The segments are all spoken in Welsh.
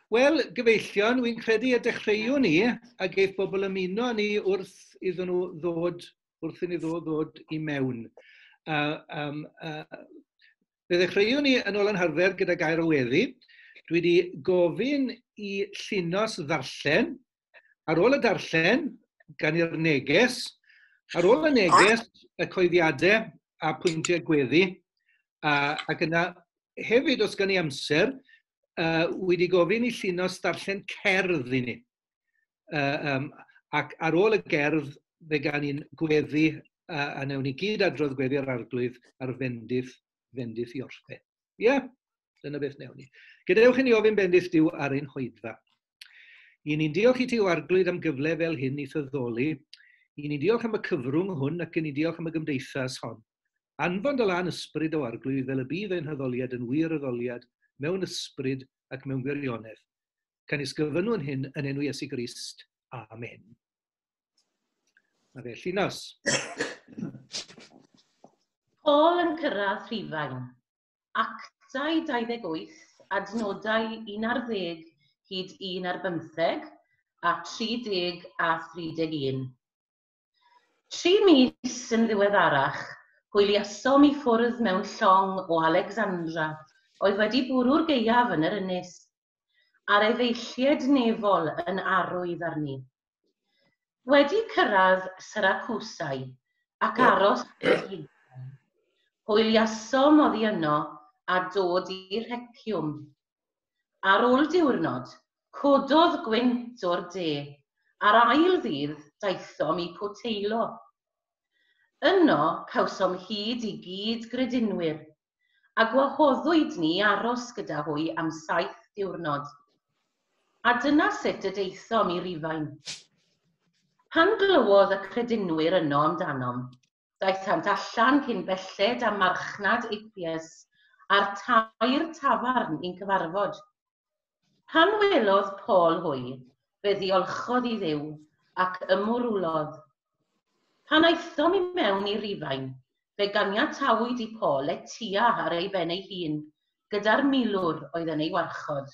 Wel, gyfeillion, wy'n credu y dechreuwn ni a geith bobl ymuno â ni wrth iddyn nhw ddod, wrth i ni ddod i mewn. Fe ddechreuwn ni yn ôl yn harfer gyda gair o weddi. Dwi wedi gofyn i Llinos ddarllen. Ar ôl y darllen, gan i'r neges. Ar ôl y neges, y coeddiadau a pwyntiau gweddi. Ac yna hefyd, os gan i amser, wedi gofyn i Llinos darllen cerdd i ni. Ac ar ôl y gerdd, fe gan ni'n gweddi a newn ni gyd adrodd gweddi'r Arglwydd ar fendith i orffen. Ie, yeah, dyna beth newn ni. Gadewch i ni ofyn bendith Duw ar ein hoedfa. I ni'n diolch i ti o Arglwydd am gyfle fel hyn i thyddoli. I ni'n diolch am y cyfrwng hwn ac i ni'n diolch am y gymdeithas hon. Anfon dy lân ysbryd o Arglwydd fel y bydd ein haddoliad yn wir addoliad mewn ysbryd ac mewn gwirionedd. Canys gofynnwn hyn yn enw Iesu Grist. Amen. Na fe, Llinos. Paul yn cyrraedd Rhufain. Actau 28, adnodau 11 hyd 1 ar 15 a 30 a 31. 3 mis yn ddiweddarach, hwyliasom i ffwrdd mewn llong o Alexandra oedd wedi bwrw'r gaeaf yn yr ynys, a'r efeilliaid nefol yn arwydd arni. Wedi cyrraedd Syracusau ac aros, hwyliasom oddi yno a dod i Rheciwm. Ar ôl diwrnod, cododd gwynt o'r de, a'r ail ddydd daethom i Puteoli. Yno cawsom hyd i gyd gredinwyr, a gwahoddwyd ni aros gyda hwy am 7 diwrnod. A dyna sut y daethom i Rufain. Pan glywodd y credinwyr yno amdanom, daethant allan cyn belled â marchnad Appius a'r Tair Tafarn i'n cyfarfod. Pan welodd Paul hwy, fe ddiolchodd i Dduw ac ymwrwlodd. Pan aethom i mewn i Rufain, fe ganiatawyd i Paul letya ar ei ben ei hun, gyda'r milwr oedd yn ei warchod.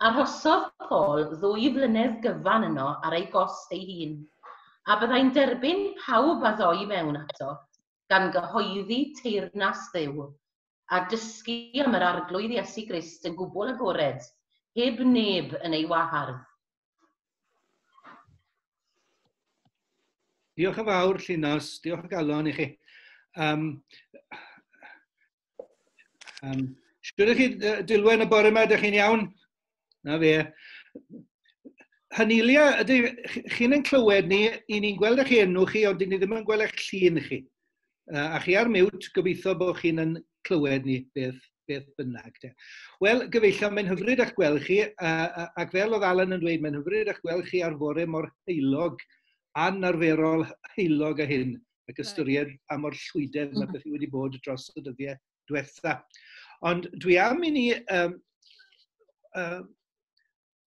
Arhosodd Paul 2 flynedd gyfan yno ar ei gost ei hun, a byddai'n derbyn pawb a ddoi mewn ato, gan gyhoeddi teyrnas Dduw, a dysgu am yr Arglwydd Iesu Grist yn gwbl agored, heb neb yn ei wahardd. Diolch yn fawr, Llinos. Diolch o galon i chi. Shwd ydych chi, Dilwen, y bore yma? Ydych chi'n iawn? Na fe. Hanelia, ydy chi'n yn clywed ni, i ni'n gweld eich enw chi, ond ni ddim yn gweld eich llun chi. A chi ar mute, gobeithio bod chi'n yn clywed ni beth bynnag. De. Wel, gyfeillion, mae'n hyfryd eich gweld chi, ac fel oedd Alan yn dweud, mae'n hyfryd eich gweld chi ar fore mor heulog, anarferol heulog a hyn, ac ystyried pa mor llwydedd mae beth wedi bod dros y dyddiau diwetha. Ond dwi am i ni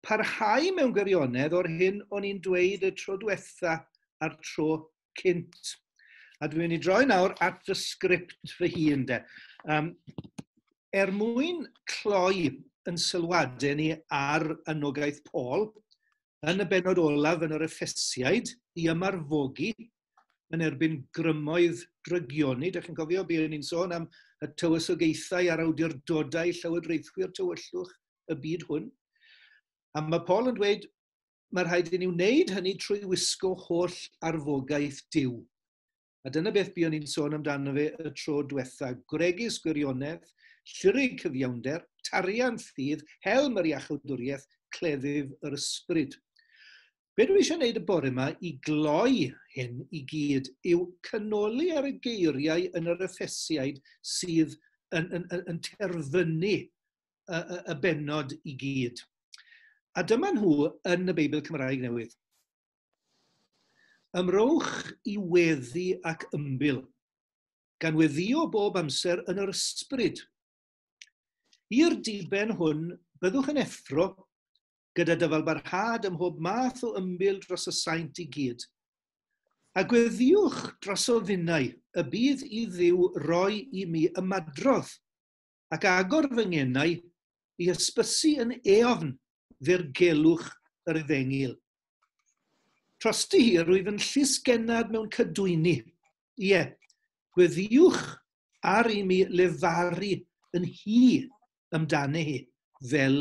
parhau mewn gwirionedd o'r hyn o'n i'n dweud y tro diwetha a'r tro cynt. A dwi'n mynd i droi nawr at fy sgript fy hun de. Er mwyn cloi yn sylwadau ni ar anogaeth Paul, yn y benod olaf yn yr Effesiaid i ymarfogi yn erbyn grymoedd drygioni. Dych chi'n cofio buon ni'n sôn am y tywysogaethau a'r awdurdodau llywodraethwyr tywyllwch y byd hwn. A mae Paul yn dweud mae rhaid i ni wneud hynny trwy wisgo holl arfogaeth Duw. A dyna beth buon ni'n sôn amdano fe y tro diwetha. Gwregys gwirionedd, llurig cyfiawnder, tarian ffydd, helm yr iachawdwriaeth, cleddyf yr ysbryd. Be dwi eisiau gwneud y bore yma i gloi hyn i gyd yw canoli ar y geiriau yn yr Effesiaid sydd yn terfynu y bennod i gyd. A dyma nhw yn y Beibl Cymraeg Newydd. Ymrowch i weddi ac ymbil, gan weddio bob amser yn yr ysbryd. I'r diben hwn, byddwch yn effro gyda dyfalbarhad ym mhob math o ymbil dros y saint i gyd. A gweddiwch drosof finnau y bydd i Dduw roi i mi ymadrodd ac agor fy ngenau. I hysbysu yn eofn ddirgelwch yr efengyl. Trosti hi, rwyf yn llysgennad mewn cadwyni. Ie, gweddïwch ar i mi lefaru yn hi amdani hi, fel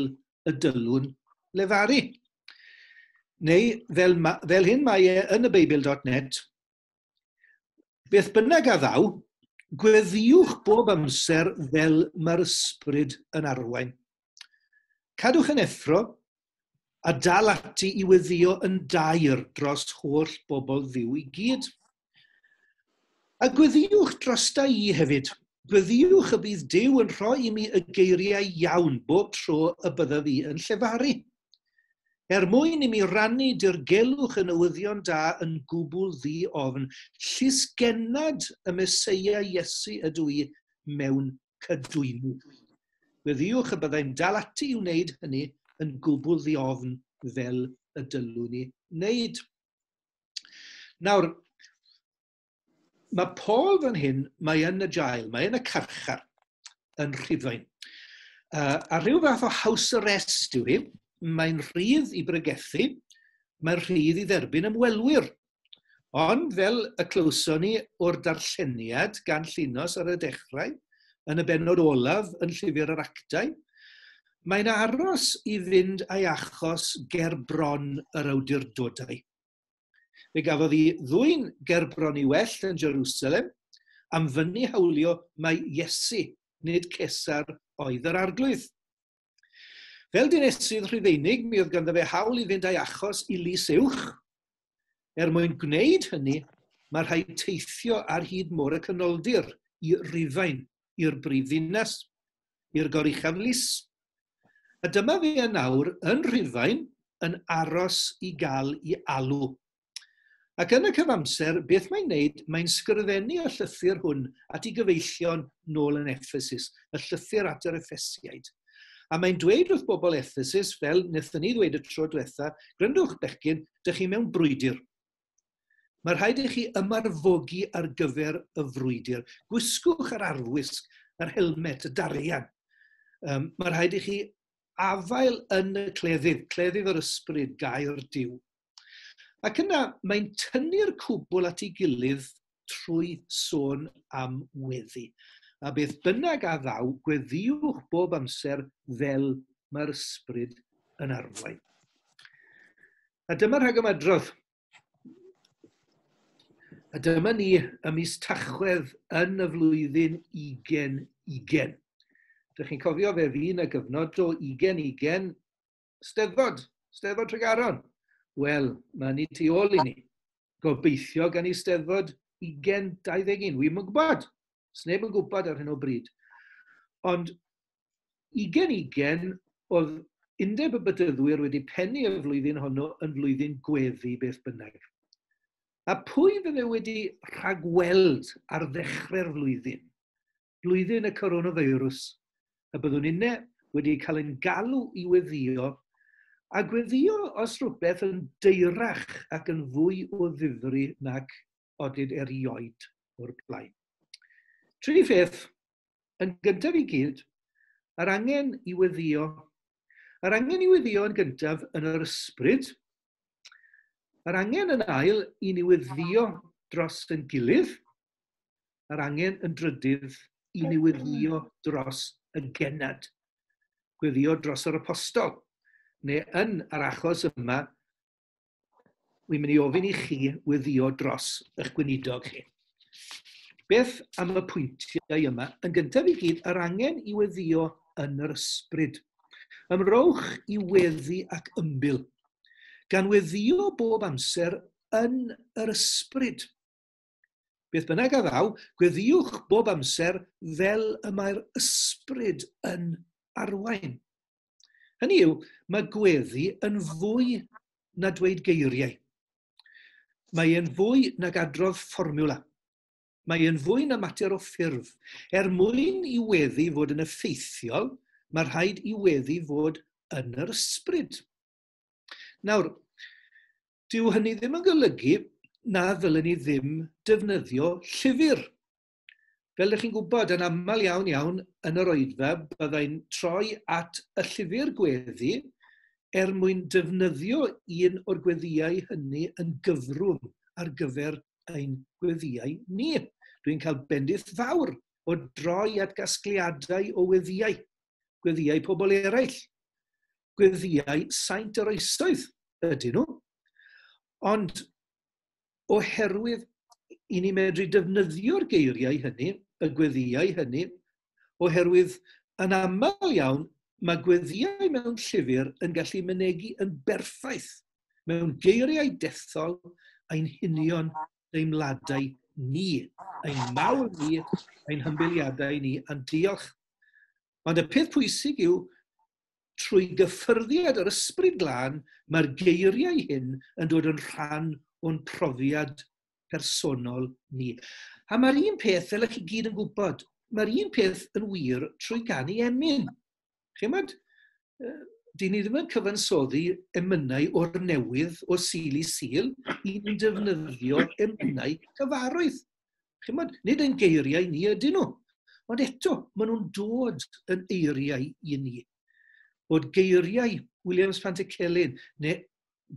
y dylwn lefaru. Neu, fel hyn mae e yn y Beibl.net, beth bynnag a ddaw, gweddïwch bob amser fel mae'r ysbryd yn arwain. Cadwch yn effro a dal ati i weddïo yn daer dros holl bobl Dduw i gyd. A gweddïwch drosta i hefyd. Gweddïwch y bydd Duw yn rhoi i mi y geiriau iawn bob tro y byddaf i yn llefaru. Er mwyn i mi rannu dirgelwch y newyddion da yn gwbl ddi-ofn, llysgennad y Meseia Iesu ydw i mewn cadwyni. Gweddïwch y byddai'n dal ati i wneud hynny yn gwbl ddi-ofn fel y dylwn ni wneud. Nawr, mae Paul fan hyn, mae yn y jail, mae yn y carchar yn Rhufain. A rhyw fath o house arrest yw hi. Mae'n rhydd i bregethu, mae'n rhydd i dderbyn ymwelwyr. Ond fel y clywson ni o'r darlleniad gan Llinos ar y dechrau, yn y bennod olaf yn Llyfr yr Actau, mae'n aros i fynd a'i achos ger bron yr awdurdodau. Fe gafodd ei ddwyn ger bron i well yn Jerusalem am fynnu hawlio mai Iesu, nid Cesar, oedd yr arglwydd. Fel dinesydd Rhufeinig, mi oedd ganddo fe hawl i fynd a'i achos i lys uwch. Er mwyn gwneud hynny, mae rhaid teithio ar hyd Môr y Canoldir i Rufain, i'r brifddinas, i'r goruchaf lys. A dyma fe yn awr yn Rhufain yn aros i gael ei alw. Ac yn y cyfamser, beth mae'n wneud, mae'n sgrifennu y llythyr hwn at ei gyfeillion nôl yn Ephesus, y llythyr at yr Effesiaid. A mae'n dweud wrth bobl Ephesus, fel wnaethon ni ddweud y tro diwetha, gryndwch bechgyn, dych chi mewn brwydr. Mae rhaid i chi ymarfogi ar gyfer y frwydr. Gwisgwch yr arfwisg, yr helmet, y darian. Mae rhaid i chi afael yn y cleddyf, cleddyf yr ysbryd, gair Duw. Ac yna mae'n tynnu'r cwbl at ei gilydd trwy sôn am weddi. A beth bynnag a ddaw, gweddïwch bob amser fel mae'r ysbryd yn arwain. A dyma rhagymadrodd. A dyma ni ym mis Tachwedd yn y flwyddyn 2020. Dych chi'n cofio fe fu 'na gyfnod o 2020 Steddfod, Steddfod Tregaron. Wel, mae ni tu ôl i ni. Gobeithio gan i Steddfod 2021. Wi'm yn gwybod. Sneb yn gwybod ar hyn o bryd. Ond 2020 oedd Undeb y Bedyddwyr wedi pennu y flwyddyn honno yn flwyddyn gweddi beth bynnag. A pwy fydde wedi rhagweld ar ddechrau'r flwyddyn, blwyddyn y coronavirus, y byddwn inne wedi cael ein galw i weddio, a gweddio os rhywbeth yn deirach ac yn fwy o ddifri nag odid erioed o'r blaen. Tri pheth, yn gyntaf i gyd, yr angen i weddio. Yr angen i weddio yn gyntaf yn yr ysbryd, yr angen yn ail i ni weddio dros yn gilydd, yr angen yn drydydd i ni weddio dros y genad, gweddio dros yr apostol. Neu yn yr achos yma, wi'n mynd i ofyn i chi weddio dros eich gweinidog chi. Beth am y pwyntiau yma? Yn gyntaf i gyd, yr angen i weddio yn yr ysbryd. Ymrowch i weddi ac ymbil, gan weddio bob amser yn yr ysbryd. Beth bynnag a ddaw, gweddiwch bob amser fel y mae'r ysbryd yn arwain. Hynny yw, mae gweddi yn fwy na dweud geiriau. Mae e'n fwy nag adrodd fformiwla. Mae e'n fwy na mater o ffurf. Er mwyn i weddi fod yn effeithiol, mae rhaid i weddi fod yn yr ysbryd. Nawr, dyw hynny ddim yn golygu na ddylen ni ddim defnyddio llyfr. Fel ydych chi'n gwybod, yn aml iawn iawn yn yr oedfa, byddai'n troi at y llyfr gweddi er mwyn defnyddio un o'r gweddïau hynny yn gyfrwng ar gyfer ein gweddïau ni. Dwi'n cael bendith fawr o droi at gasgliadau o weddïau, gweddïau pobl eraill, gweddïau saint yr oesoedd ydyn nhw. Ond oherwydd i ni medru defnyddio'r geiriau hynny, y gweddïau hynny, oherwydd yn aml iawn mae gweddïau mewn llyfr yn gallu mynegi yn berffaith mewn geiriau dethol ein hunion deimladau ni, ein mawl ni, ein hymbiliadau ni, a'n diolch. Ond y peth pwysig yw, trwy gyffyrddiad yr Ysbryd Glân, mae'r geiriau hyn yn dod yn rhan o'n profiad personol ni. A mae'r un peth, fel ych chi gyd yn gwybod, mae'r un peth yn wir trwy ganu emyn. Chimod, dyn ni ddim yn cyfansoddi emynau o'r newydd, o Sul i Sul, i ni'n defnyddio emynau cyfarwydd. Chimod, nid ein geiriau ni ydyn nhw, ond eto, maen nhw'n dod yn eiriau i ni. Bod geiriau Williams Pantycelyn, neu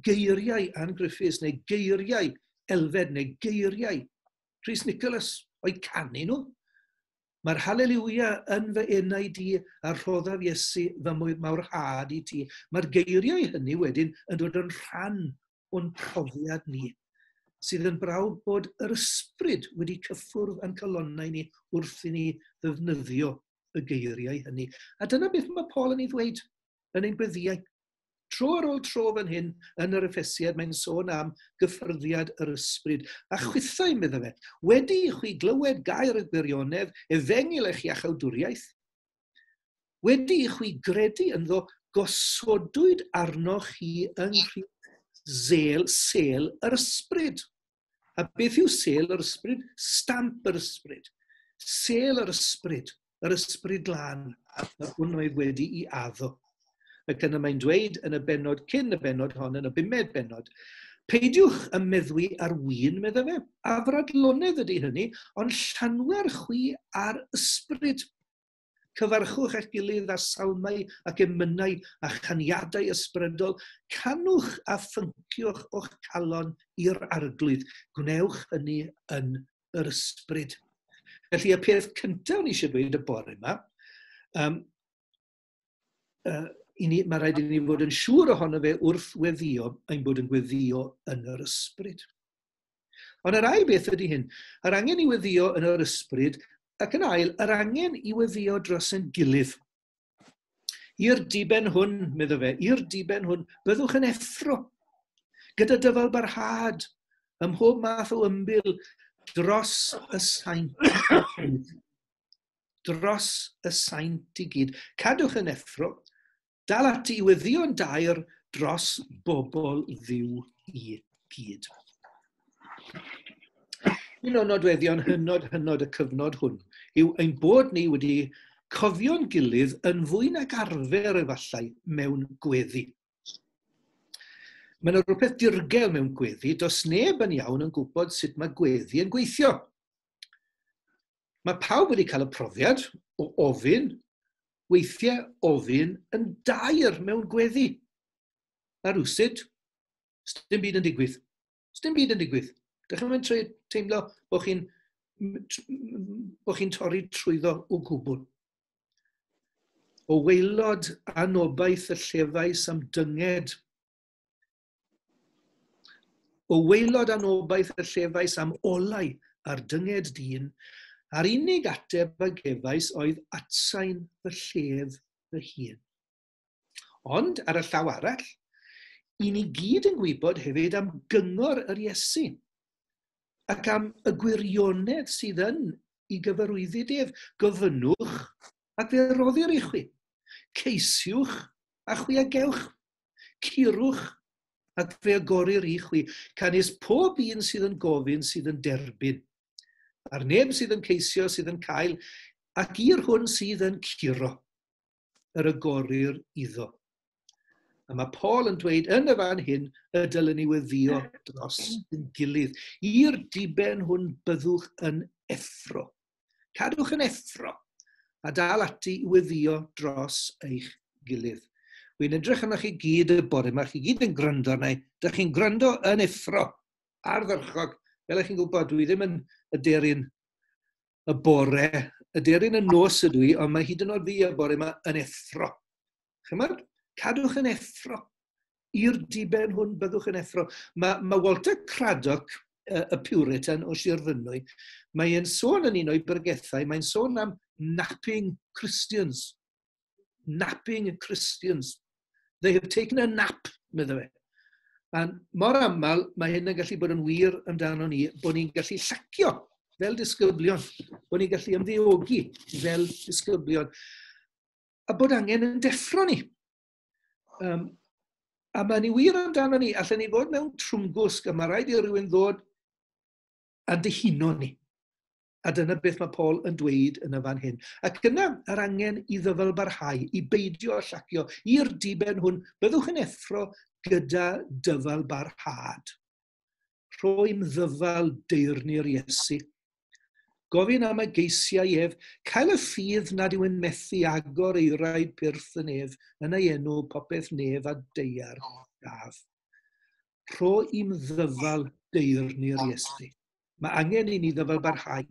geiriau Ann Griffiths, neu geiriau Elfed, neu geiriau Rhys Nicholas, o'i canu nhw. Mae'r haleliwia yn fy enau di a rhoddaf Iesu fy mawrhad i ti. Mae'r geiriau hynny wedyn yn dod yn rhan o'n profiad ni, sydd yn brawf bod yr ysbryd wedi cyffwrdd â'n calonnau ni wrth i ni ddefnyddio y geiriau hynny. A dyna beth mae Paul yn ei ddweud yn ein gweddïau. Tro ar ôl tro fan hyn yn yr Effesiad mae'n sôn am gyffyrddiad yr ysbryd. A chwithau, medda fe, wedi i chwi glywed gair y gwirionedd, efengyl eich iachawdwriaeth, wedi i chwi gredu ynddo, gosodwyd arnoch chi yng nghryd sêl yr ysbryd. A beth yw sêl yr ysbryd? Stamp yr ysbryd. Sêl yr ysbryd, yr ysbryd glân, yr hwn oedd wedi'i addo. Ac yna mae'n dweud yn y bennod cyn y bennod hon, yn y bumed bennod, peidiwch ym meddwi ar win, medda fe, afradlonedd ydy hynny, ond llanwer chwi ar ysbryd. Cyfarchwch eich gilydd â salmau ac emynau a chaniadau ysbrydol, canwch a phynciwch o'ch calon i'r Arglwydd. Gwnewch hynny yn yr ysbryd. Felly y peth cyntaf ni eisiau dweud y bore yma, mae rhaid i ni fod yn siŵr ohono fe wrth weddio, ein bod yn gweddio yn yr ysbryd. Ond yr ail beth ydy hyn, yr angen i weddio yn yr ysbryd, ac yn ail, yr angen i weddio dros ein gilydd. I'r diben hwn, medda fe, i'r diben hwn, byddwch yn effro, gyda dyfal barhad, ym mhob math o ymbil, dros y saint. Dros y saint i gyd. Cadwch yn effro, dal ati i weddïo'n daer dros bobl Dduw i gyd. Un o nodweddion hynod hynod y cyfnod hwn yw ein bod ni wedi cofio'n gilydd yn fwy nag arfer efallai mewn gweddi. Mae yna rhywbeth dirgel mewn gweddi, does neb yn iawn yn gwybod sut mae gweddi yn gweithio. Mae pawb wedi cael y profiad o ofyn, weithiau ofyn yn daer mewn gweddi. A rywsut, sdim byd yn digwydd. Sdim byd yn digwydd. Dych chi'n mynd teimlo bod chi'n torri trwyddo o gwbl. O waelod anobaith y llefais am dynged. O waelod anobaith y llefais am olau ar dynged dyn, a'r unig ateb a gefais oedd atsain fy llef fy hun. Ond ar y llaw arall, i ni gyd yn gwybod hefyd am gyngor yr Iesu ac am y gwirionedd sydd yn i gyfarwyddyd ef. Gofynnwch ac fe roddir i chwi. Ceisiwch a chwi a gewch. Curwch ac fe agorir i chwi. Canys pob un sydd yn gofyn sydd yn derbyn. A'r neb sydd yn ceisio sydd yn cael, ac i'r hwn sydd yn curo, yr agorir iddo. A mae Paul yn dweud yn y fan hyn y dylen ni weddio dros ein gilydd. I'r diben hwn byddwch yn effro. Cadwch yn effro a dal ati i weddio dros eich gilydd. Wy'n edrych arnoch chi gyd y bore yma, chi gyd yn gwrando arna i. Dych chi'n gwrando yn effro, ardderchog. Fel ych chi'n gwybod, dwi ddim yn y deryn y bore, y deryn y nos ydw i, ond mae hyd yn oed fi y bore yma yn effro. Chymod? Cadwch yn effro. I'r diben hwn byddwch yn effro. Mae Walter Craddock, y Puritan o Sir Fynwy, mae'n sôn yn un o'i bregethau, mae'n sôn am napping Christians. Napping Christians. They have taken a nap, meddai fe. A mor aml, mae hyn yn gallu bod yn wir amdano ni, bod ni'n gallu llacio fel disgyblion, bod ni'n gallu ymddeogi fel disgyblion, a bod angen yn deffro ni. A mae'n wir amdano ni, allan ni fod mewn trwmgwsg, a mae rhaid i rywun ddod a dihuno ni. A dyna beth mae Paul yn dweud yn y fan hyn. Ac yna yr angen i ddyfalbarhau, i beidio â llacio, i'r diben hwn, byddwch yn effro gyda dyfalbarhad. Rhoi'n ddyfal deyrnu'r Iesu. Gofyn am y geisiau ef, cael y ffydd nad yw'n methu agor eirau pyrth yn ef, yn ei enw popeth nef a deiar gaf. Rho i'm ddyfal deyrnu'r Iesu. Mae angen i ni ddyfalbarhau,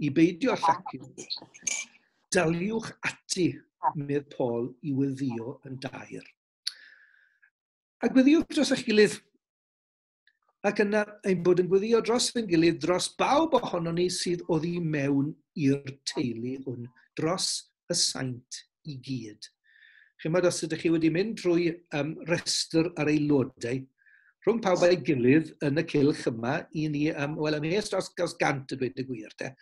i beidio llacio. Daliwch ati, medd Paul, i weddio yn dair. A gweddiwch dros eich gilydd. Ac yna ein bod yn gweddio dros ein gilydd, dros bawb ohonon ni sydd oddi mewn i'r teulu hwn, dros y saint i gyd. Chimod, os ydych chi wedi mynd drwy restr ar aelodau, rhwng pawb a'i gilydd yn y cylch yma, i ni, wel, ymhell dros 100 y dweud y gwir, te.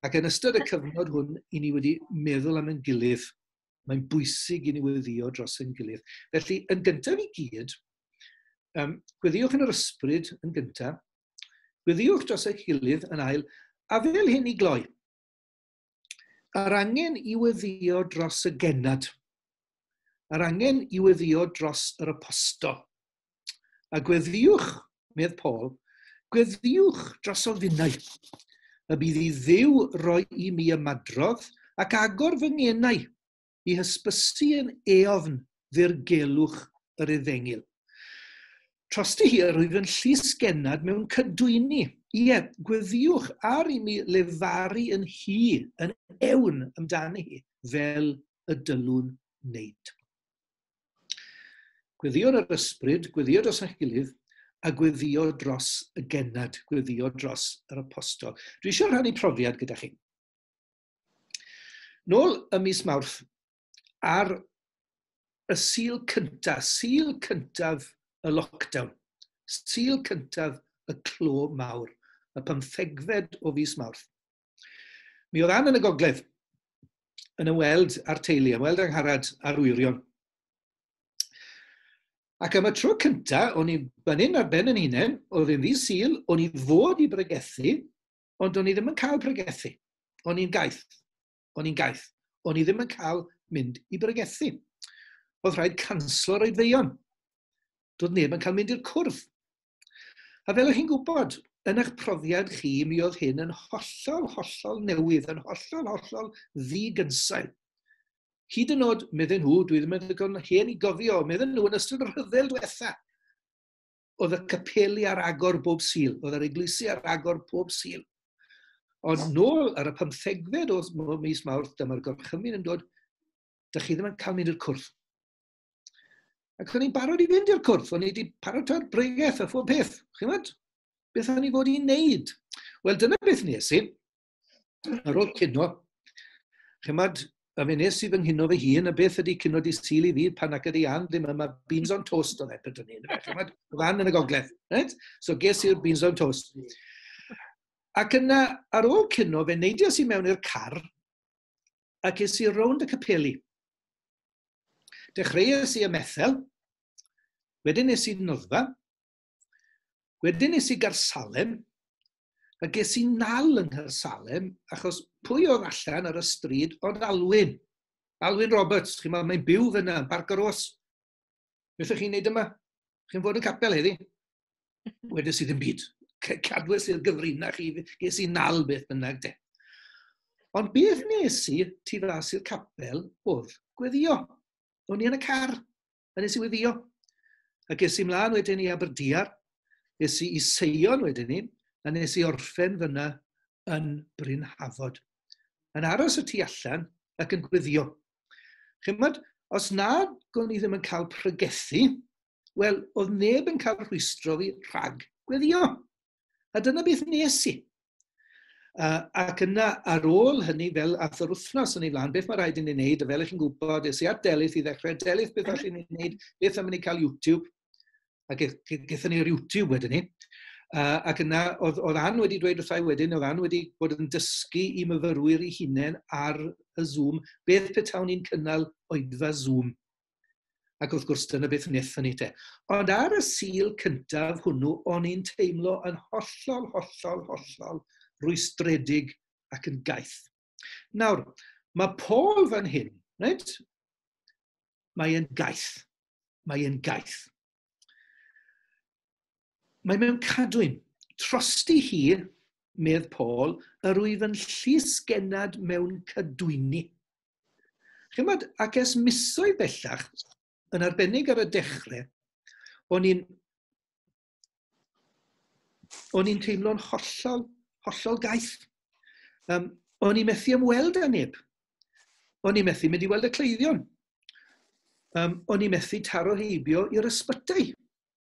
Ac yn ystod y cyfnod hwn, i ni wedi meddwl am ein gilydd. Mae'n bwysig i ni weddio dros ein gilydd. Felly, yn gyntaf i gyd, gweddiwch yn yr ysbryd yn gyntaf, gweddiwch dros eich gilydd yn ail, a fel hyn i gloi. Yr angen i weddio dros y genad. Yr angen i weddio dros yr apostol. A gweddiwch, medd Paul, gweddiwch dros ofynnau. Y bydd i Dduw roi i mi ymadrodd ac agor fy ngenau i hysbysu yn eofn ddirgelwch yr efengyl. Trosti hi rwyf yn llysgennad mewn cydwyni. Ie, gweddiwch ar i mi lefaru yn hi, yn ewn amdani hi, fel y dylwn wneud. Gweddio yr ysbryd, gweddio dros eich gilydd, a gweddio dros y genad, gweddio dros yr apostol. Dwi eisiau rhannu profiad gyda chi. Nôl ym mis Mawrth, ar y Sul cyntaf, Sul cyntaf y lockdown, Sul cyntaf y clo mawr, y 15fed o fis Mawrth. Mi oedd Ann yn y gogledd yn ymweld â'r teulu, ymweld â Angharad a'r wyrion. Ac am y tro cyntaf, o'n i fan hyn ar ben yn hunain, oedd e'n ddydd Sul, o'n i fod i bregethu, ond o'n i ddim yn cael pregethu. O'n i'n gaeth. O'n i'n gaeth. O'n i ddim yn cael mynd i bregethu. Oedd rhaid canslo'r oedfeion. Doedd neb yn cael mynd i'r cwrdd. A fel ych chi'n gwybod, yn eich profiad chi, mi oedd hyn yn hollol, hollol newydd, yn hollol, hollol ddigynsail. Hyd yn oed, medden nhw, dwi ddim yn ddigon hen i gofio, medden nhw yn ystod y rhyfel diwetha, oedd y capeli ar agor bob Sul, oedd yr eglwysi ar agor pob Sul. Ond nôl ar y 15fed o mis Mawrth, dyma'r gorchymyn yn dod, dych chi ddim yn cael mynd i'r cwrdd. Ac o'n i'n barod i fynd i'r cwrdd, o'n i wedi paratoi'r bregeth a phob peth, chi'n gwybod? Beth o'n i fod i wneud? Wel, dyna beth nes i. Ar ôl cino, chi'n gwybod, a fe nes i fy nghino fy hun, a beth ydy cino di Sul i fi pan ac ydy Ann ddim yma, beans on toast oedd e pryd hynny. Chi'n gwybod, oedd Ann yn y gogledd, right? So ges i'r beans on toast. Ac yna, ar ôl cino, fe neidiais i mewn i'r car, ac es i rownd y capeli. Dechreuais i ym Methel, wedyn es i Noddfa, wedyn es i Gaersalem, a ges i nal yng Nghaersalem, achos pwy oedd allan ar y stryd ond Alwyn. Alwyn Roberts, chi'n meddwl, mae'n byw fyna, yn Parc y Rhos. Beth ydych chi'n neud yma? Chi'n fod yn capel heddi? Wedes i ddim byd. Cadwes i'r gyfrinach i, ges i nal beth bynnag de. Ond beth nes i tu fas i'r capel oedd gweddio. O'n i yn y car, a nes i weddio. A ges i mlaen wedyn i Aberdiar, es i i Seion wedyn ni, a nes i orffen fyna yn Bryn Hafod. Yn aros y tu allan ac yn gweddio. Chymod, os nad o'n i ddim yn cael pregethu, wel, oedd neb yn cael rhwystro fi rhag gweddio. A dyna beth nes i. Ac yna, ar ôl hynny, fel ath yr wythnos yn ei flaen, beth mae rhaid i ni wneud, a fel ych chi'n gwybod, es i at Delyth i ddechrau, Delyth, beth allwn ni wneud, beth am i ni cael YouTube? A gaethon ni'r YouTube wedyn ni. Ac yna, oedd Ann wedi dweud wrthai wedyn, oedd Ann wedi bod yn dysgu i myfyrwyr ei hunain ar y Zoom, beth petawn ni'n cynnal oedfa Zoom. Ac wrth gwrs, dyna beth wnaethon ni te. Ond ar y Sul cyntaf hwnnw, o'n i'n teimlo yn hollol, hollol, hollol rwystredig ac yn gaeth. Nawr, mae Paul fan hyn, reit? Mae e'n gaeth. Mae e'n gaeth. Mae mewn cadwyn. Trosti hi, medd Paul, yr wyf yn llysgennad mewn cadwyni. Chymod, ac ers misoedd bellach, yn arbennig ar y dechrau, o'n i'n teimlo'n hollol, hollol gaeth. O'n i'n methu ymweld â neb. O'n i'n methu mynd i weld y cleifion. O'n i'n methu taro heibio i'r ysbytai.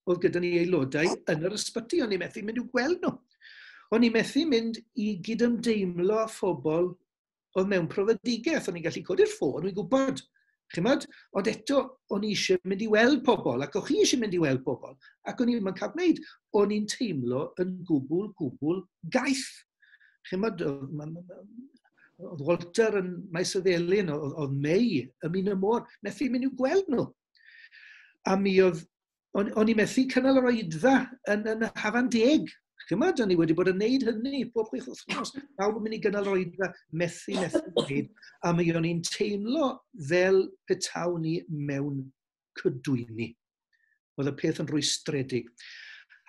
Oedd gyda ni aelodau yn yr ysbyty, o'n i'n methu mynd i'w gweld nhw. O'n i'n methu mynd i gydymdeimlo â phobl oedd mewn profedigaeth. O'n i'n gallu codi'r ffôn, o'n i'n gwybod. Chimod? Ond eto, o'n i eisiau mynd i weld pobl, ac o'ch chi eisiau mynd i weld pobl, ac o'n i'n cael gwneud. O'n i'n teimlo yn gwbl, gwbl gaeth. Chimod, oedd Walter yn Maes y Felin, oedd May ym Min y Môr, methu mynd i'w gweld nhw. A mi oedd, o'n i methu cynnal yr oedfa yn Hafan Deg. Chymod, o'n i wedi bod yn neud hynny bob 6 wythnos. Pawb yn mynd i gynnal yr oedfa, methu gwneud. A mi o'n i'n teimlo fel petawn ni mewn cydwyni. Oedd y peth yn rwystredig.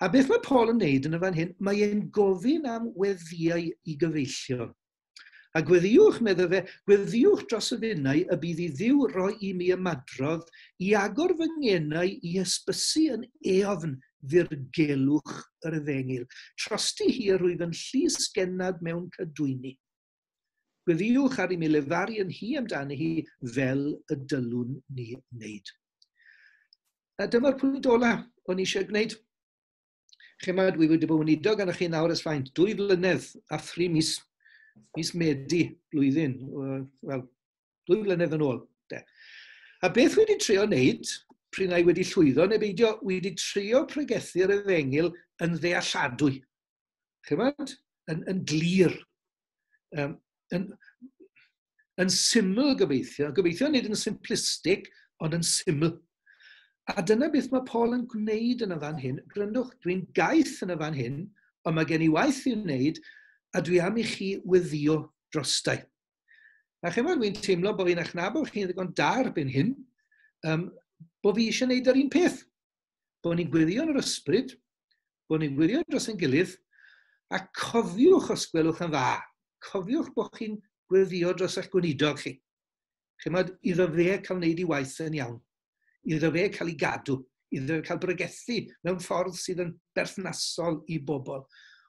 A beth mae Paul yn neud yn y fan hyn, mae e'n gofyn am weddïau i gyfeillion. A gweddïwch, medde fe, gweddïwch dros y finnau y bydd i Dduw roi i mi ymadrodd i agor fy ngenau i hysbysu yn eofn ddirgelwch yr efengyl. Trosti hi yr wyf yn llysgennad mewn cadwyni. Gweddïwch ar i mi lefaru yn hi amdani hi fel y dylwn ni wneud. A dyma'r pwynt ola o'n i eisiau gwneud. Chymod, dwi wedi bod yn weinidog arnoch chi nawr ers faint, 2 flynedd a 3 mis. Mis Medi blwyddyn, wel, 2 flynedd yn ôl. De. A beth wedi trio wneud, pryd na i wedi llwyddo, neu beidio, wedi trio pregethu'r efengyl yn ddealladwy. Chymod? Yn glir. Yn syml gobeithio. Gobeithio nid yn simplistic, ond yn syml. A dyna beth mae Paul yn gwneud yn y fan hyn. Gryndwch, dwi'n gaeth yn y fan hyn, ond mae gen i waith i'w wneud, a dwi am i chi weddïo drostai. A chymod, dwi'n teimlo bod fi'n achnabod chi'n ddigon da erbyn hyn, bod fi eisiau gwneud yr un peth. Bod ni'n gweddio yn yr ysbryd, bod ni'n gweddio dros ein gilydd, a cofiwch os gwelwch yn dda, cofiwch bod chi'n gweddio dros eich gweinidog chi. Chymod, iddo fe cael wneud ei waith yn iawn, iddo fe cael ei gadw, iddo fe cael bregethu mewn ffordd sydd yn berthnasol i bobl,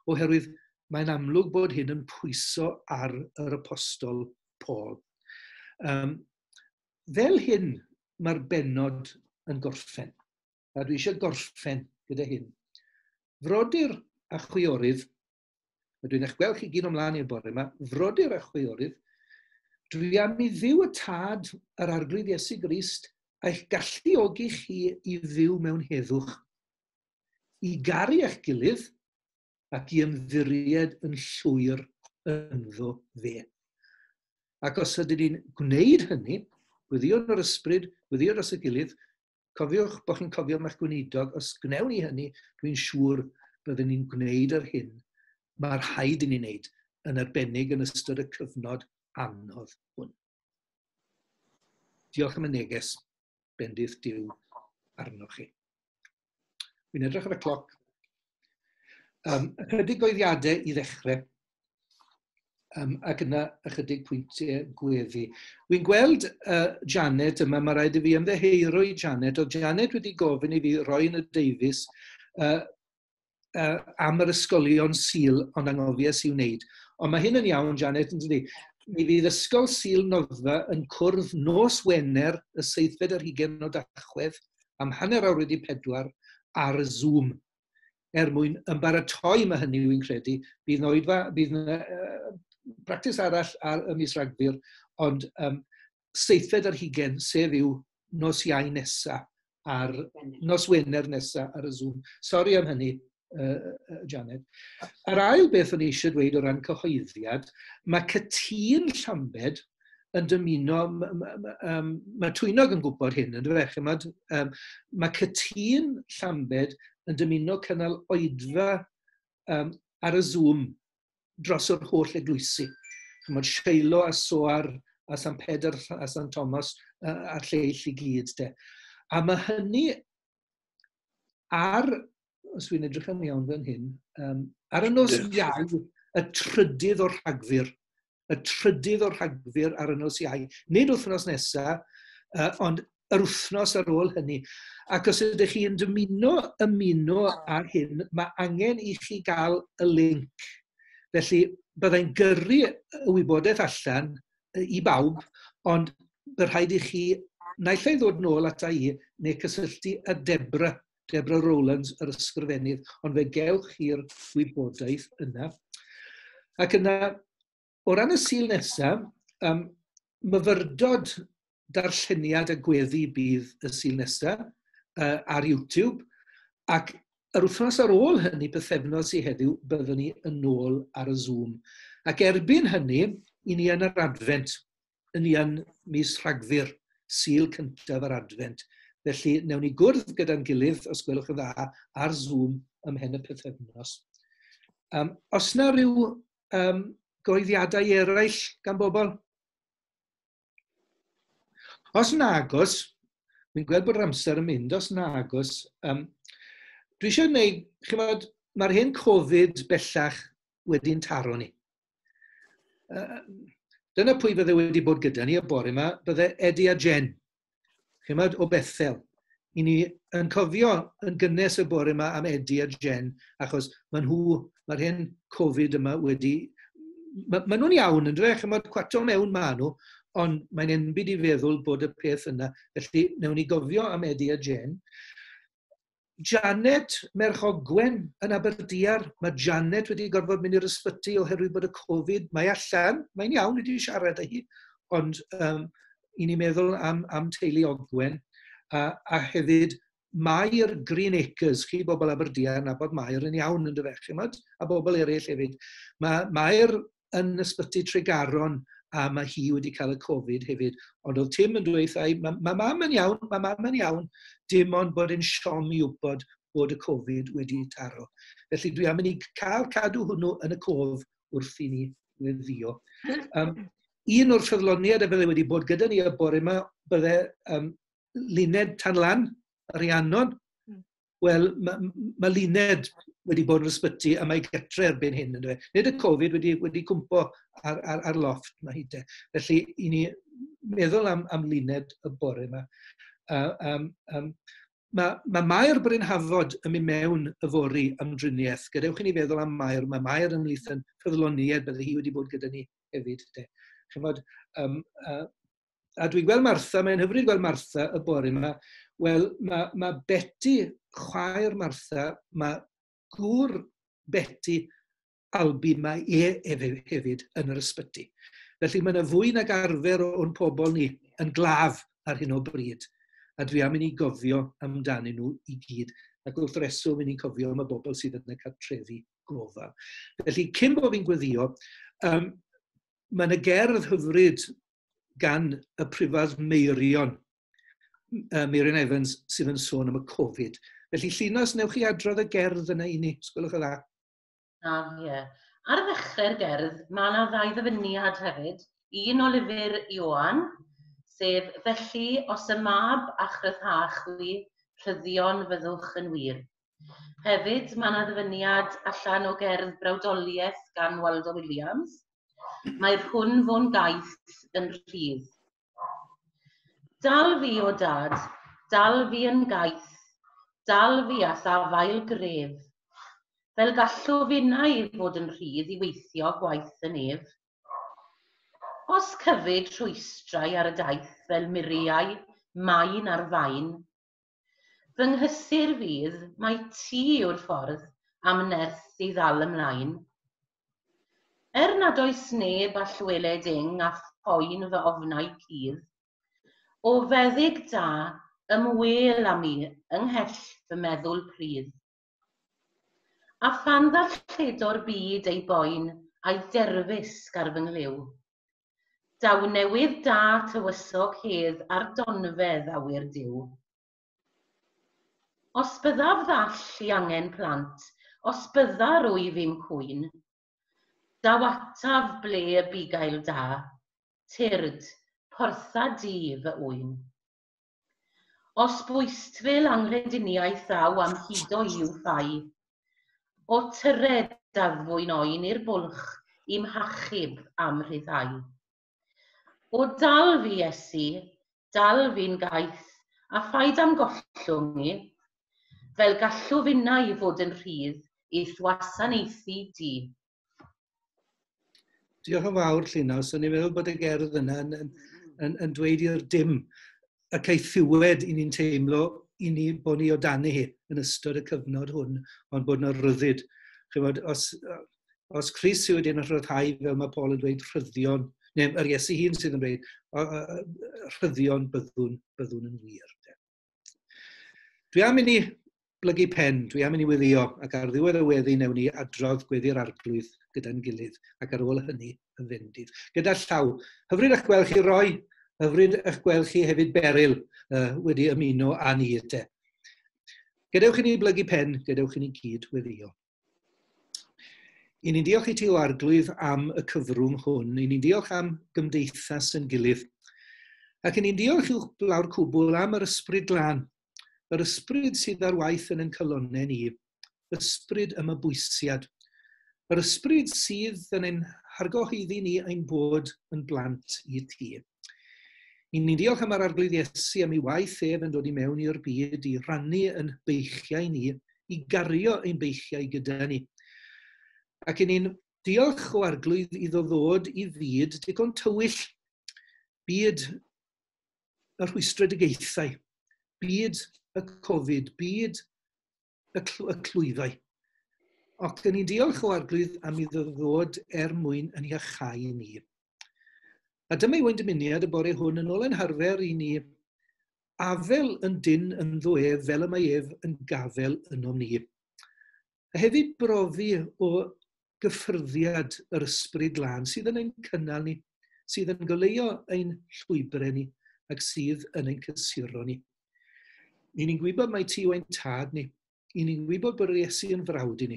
oherwydd mae'n amlwg bod hyn yn pwyso ar yr apostol Paul. Fel hyn mae'r bennod yn gorffen. A dwi eisiau gorffen gyda hyn. Frodyr a chwiorydd, a dwi'n eich gweld chi gyd ymlaen i'r bore yma, frodyr a chwiorydd, dwi am i Dduw y Tad yr Arglwydd Iesu Grist a'ch galluogi chi i fyw mewn heddwch, i garu eich gilydd ac i ymddiried yn llwyr ynddo fe. Ac os ydyn ni'n gwneud hynny, gweddio yn yr ysbryd, gweddio dros y gilydd, cofiwch bod chi'n cofio am eich gweinidog, os gwnewn ni hynny, dwi'n siŵr byddwn ni'n gwneud yr hyn mae'r rhaid i ni wneud, yn arbennig yn ystod y cyfnod anodd hwn. Diolch am y neges, bendith Duw arnoch chi. Dwi'n edrych ar y cloc. Ychydig oeddiadau i ddechrau. Ac yna ychydig pwyntiau gweddi. Wy'n gweld Janet yma, mae rhaid i fi ymddiheuro i Janet. Oedd Janet wedi gofyn i fi roi yn y Davies am yr ysgolion Sul, ond angofies i wneud. Ond mae hyn yn iawn, Janet, yn dydi? Mi fydd Ysgol Sul Noddfa yn cwrdd nos Wener y 27 o Dachwedd am 4:30 ar Zoom er mwyn ymbaratoi, mae hynny wy'n credu, bydd yna oedfa, bydd yna practis arall ar y mis Rhagfyr, ond 27, sef yw nos Iau nesa, ar nos Wener nesa ar y Zoom. Sori am hynny, Janet. Yr ail beth o'n i eisiau dweud o ran cyhoeddiad, mae Cytûn Llambed yn dymuno, mae Twynog yn gwybod hyn, yn dweud, chymod, mae Cytûn Llambed yn dymuno cynnal oedfa ar y Zoom dros yr holl eglwysi. Chymod, Seilo a Soar a San Pedr a San Thomas a'r lleill i gyd. De. A mae hynny ar, os dwi'n edrych yn iawn fan hyn, ar y nos Iau, y 3 o Rhagfyr, y 3 o Rhagfyr ar y nos Iau. Nid wythnos nesaf, ond yr wythnos ar ôl hynny. Ac os ydych chi'n dymuno ymuno ar hyn, mae angen i chi gael y link. Felly, byddai'n gyrru y wybodaeth allan i bawb, ond bydd rhaid i chi naill ai ddod nôl ata i neu cysylltu â Debra, Debra Rowlands, yr ysgrifennydd, ond fe gewch chi'r wybodaeth yna. Ac yna, o ran y Sul nesaf, myfyrdod darlleniad a gweddi bydd y Sul nesaf ar YouTube, ac yr wythnos ar ôl hynny, pythefnos i heddiw, byddwn ni yn ôl ar y Zoom. Ac erbyn hynny, i ni yn yr Adfent, yn ni yn mis Rhagfyr, Sul cyntaf yr Adfent. Felly, newn ni gwrdd gyda'n gilydd, os gwelwch yn dda, ar Zoom ymhen y pythefnos. Os na ryw goeddiadau eraill gan bobl? Os nagos, fi'n gweld bod yr amser yn mynd, os nagos, dwi eisiau gwneud, chimod, mae'r hen Covid bellach wedi'n taro ni. Dyna pwy fydde wedi bod gyda ni y bore yma, bydde Eddie a Jen, chimod, o Bethel. I ni yn cofio yn gynnes y bore yma am Eddie a Jen, achos maen nhw, mae'r hen Covid yma wedi... Ma nhw'n iawn yn dweud, chimod, cwato mewn ma nhw, ond mae'n enbyd i feddwl bod y peth yna. Felly, newn ni gofio am Eddie a Jen. Janet merch Ogwen yn Aberdiar. Mae Janet wedi gorfod mynd i'r ysbyty oherwydd bod y Covid. Mae allan, mae'n iawn wedi siarad â hi, ond i ni meddwl am teulu Ogwen. A hefyd, Mair Green Acres, chi bobl Aberdiar, nabod Mair yn iawn yn dyfe, chimod, a bobl eraill hefyd. Mae Mair yn ysbyty Tregaron a mae hi wedi cael y Covid hefyd. Ond oedd Tim yn dweud, mae mam yn iawn, mae mam yn iawn, dim ond bod yn siom i wybod bod y Covid wedi taro. Felly dwi am i ni cael cadw hwnnw yn y cof wrth i ni weddio. Un o'r ffyddloniaid a bydde wedi bod gyda ni y bore yma, bydde Luned Tanlan, Rhiannon. Wel, mae Luned wedi bod yn ysbyty a mae getre erbyn hyn. Yndyfe? Nid y Covid wedi cwmpo ar lofft mae hi de. Felly, i ni meddwl am Luned y bore yma. Mae Mair Bryn Hafod yn mynd mewn yfory am driniaeth. Gadewch i ni feddwl am Mair. Mae Mair ymhlith yn ffyddloniaid, bydde hi wedi bod gyda ni hefyd. De. Chymod, a dwi'n gweld Martha, mae'n hyfryd gweld Martha y bore yma. Wel, mae Betty, chwaer Martha, mae gŵr Betty Albi, mae e hefyd yn yr ysbyty. Felly mae yna fwy nag arfer o'n pobl ni yn glaf ar hyn o bryd. A dwi am i ni gofio amdanyn nhw i gyd. Ac wrth reswm i ni'n cofio am y bobl sydd yn y cartrefi gofal. Felly, cyn bod fi'n gweddio, mae yna gerdd hyfryd gan y prifardd Meirion, Meirion Evans, sydd yn sôn am y Covid. Felly, Llinos, newch chi adrodd y gerdd yna i ni, os gwelwch yn dda. Ie. Ar ddechrau'r gerdd, mae yna ddau ddyfyniad hefyd. Un o lyfr Ioan, sef felly os y mab a chryfha chwi, rhyddion fyddwch yn wir. Hefyd, mae yna ddyfyniad allan o gerdd Brawdoliaeth gan Waldo Williams. Mae'r hwn fo'n gaeth yn rhydd. Dal fi o dad, dal fi yn gaeth, dal fi â'th afael gref, fel gallw finnau fod yn rhydd i weithio gwaith y nef. Os cyfyd rhwystrau ar y daith fel muriau, maen ar faen, fy nghysur fydd mai ti yw'r ffordd am nerth i ddal ymlaen. Er nad oes neb all weled ing a phoen fy ofnau cudd, o feddyg da, ymwel â mi ynghell fy meddwl prudd. A phan ddarlledo'r byd ei boen a'i derfysg ar fy nghlyw, daw newydd da tywysog hedd ar donfedd awyr Duw. Os byddaf ddall i angen plant, os bydda rwyf i'm cwyn, daw ataf ble y bugail da, tyrd, portha di fy ŵyn. Os bwystfil anghrediniaeth ddaw am hudo i'w ffau, o tyred addfwyn oen i'r bwlch i'm hachub am rhyddhau. O dal fi, Iesu, dal fi'n gaeth, a phaid am gollwng i, fel gallw finnau i fod yn rhydd i'th wasanaethu di. Diolch yn fawr, Llinos. O'n i'n meddwl bod y gerdd yna yn dweud i'r dim y caethiwed i ni'n teimlo i ni bod ni o dan hi yn ystod y cyfnod hwn, ond bod yna ryddid. Chymod, os Crist sydd wedi'n rhyddhau, fel mae Paul yn dweud, rhyddion, neu yr Iesu hun sydd yn dweud, rhyddion byddwn yn wir. Dwi am i ni blygu pen, dwi am i ni weddio, ac ar ddiwedd y weddi newn ni adrodd gweddi'r Arglwydd gyda'n gilydd, ac ar ôl hynny y fendith. Gyda llaw, hyfryd eich gweld chi Roi, hyfryd eich gweld chi hefyd Beryl wedi ymuno â ni te. Gadewch i ni blygu pen, gadewch i ni gyd weddio. I ni'n diolch i ti o Arglwydd am y cyfrwng hwn, i ni'n diolch am gymdeithas yn gilydd, ac i ni'n diolch i'w blaw'r cwbl am yr Ysbryd Glân, yr ysbryd sydd ar waith yn ein calonnau ni, ysbryd ymabwysiad, yr ysbryd sydd yn ein hargyhoeddi ni ein bod yn blant i ti. I ni'n diolch am yr Arglwydd Iesu am ei waith ef yn dod i mewn i'r byd i rannu yn beichiau ni, i gario ein beichiau gyda ni. Ac i ni'n diolch o Arglwydd iddo ddod i fyd digon tywyll, byd y rhwystredigaethau, byd y Covid, byd y clwyfau. Ac yn ni'n diolch o Arglwydd am iddo ddod er mwyn yn iachau ni. A dyma yw ein dymuniad y bore hwn yn ôl ein harfer i ni afel yn dyn ynddo ef fel y mae ef yn gafel ynom ni. A hefyd brofi o gyffyrddiad yr Ysbryd Glân sydd yn ein cynnal ni, sydd yn goleuo ein llwybrau ni ac sydd yn ein cysuro ni. I ni'n gwybod mai ti yw ein tad ni. I ni'n gwybod bod yr Iesu yn frawd i ni.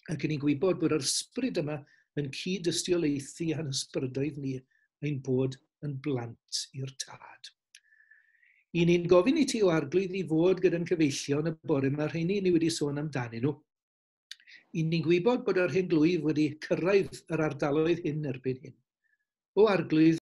Ac i ni'n gwybod bod yr ysbryd yma yn cyd-dystiolaethu a'n ysbrydoedd ni ein bod yn blant i'r tad. I ni'n gofyn i ti o Arglwydd i fod gyda'n cyfeillion y bore yma, rheini ni wedi sôn amdanyn nhw. I ni'n gwybod bod yr hen glwyf wedi cyrraedd yr ardaloedd hyn erbyn hyn. O Arglwydd,